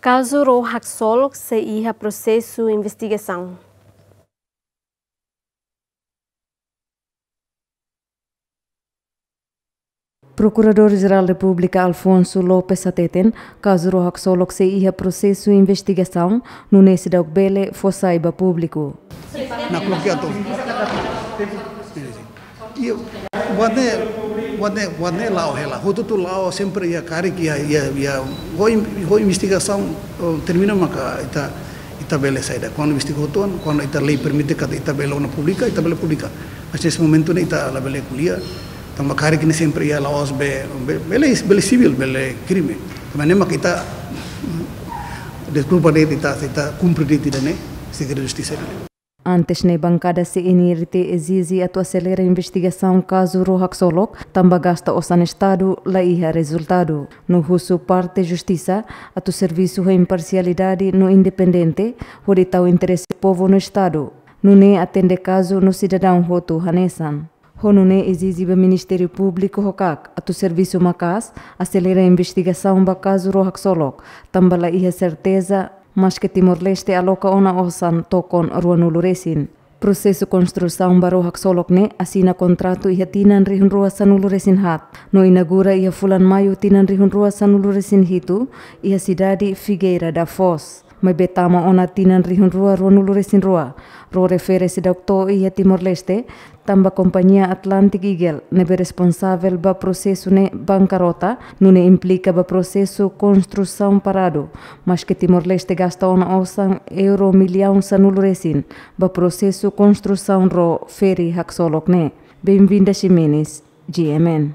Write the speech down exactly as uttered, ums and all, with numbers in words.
Kazu ró haksolok sei iha prosesu investigasaun. Prokuradór-Jerál Repúblika Alfonso Lopes hateten, kazu ró haksolok sei iha prosesu investigasaun, nune'e seidauk bele fó sai ba públiku. Na bloqueado. Iya, buat ne'e, buat ne'e, buat ne'e la'o hela. Hotu-hotu la'o sempre iha karik iha, iha, iha, ho in-, ho investigasaun, oh, termina maka ita, ita bele saida. Kuandu investiga hotu ona, kuandu ita lei permite katak ita bele ona publika, ita bele publika. Mas nesse momento ne'e ita labele ko'alia. Tanba karik ne'e sempre iha la'ós be, be, bele, bele sivíl, bele krime. Tanba ne'e maka ita, mm, deskulpa de'it ita, ita kumpre de'it ida-ne'e, segredu justisa ne'e. Antes ne'e bankada C N R T ezije atu aselera investigasaun kazu ró haksolok, tanba gasta osan Estadu la iha rezultadu. No husu parte justisa atu servisu ho imparsialidade no independente, hodi tau interese povu no Estadu. Nune'e atende kazu no sidadaun hotu hanesan. Ho nune'e ezije ba Ministériu Públiku ho KAK atu servisu maka'as, aselera investigasaun ba kazu ró haksolok, tanba la iha serteza, maske Timor-Leste aloka ona osan tokon ruanulu resin. Prosesu konstrusaun ba ró haksolok ne'e asina kontratu iha tinan rihun rua sanulu resin haat, no inaugura iha fulan Maiu tinan rihun rua sanulu resin hitu, iha sidade Figueira da Foz. Maibé tama ona tinan rihun rua ruanulu resin rua, ró refere seidauk to'o iha Timor-Leste, tanba kompañia Atlantic Eagle ne'ebé responsavel ba prosesu ne'e bankarota, nune'e implika ba prosesu konstrusaun paradu, maske Timor-Leste gasta ona osan euro millaun sanulu resin ba prosesu konstrusaun ró feri haksolok ne'e. Benvinda Ximenes, G M N.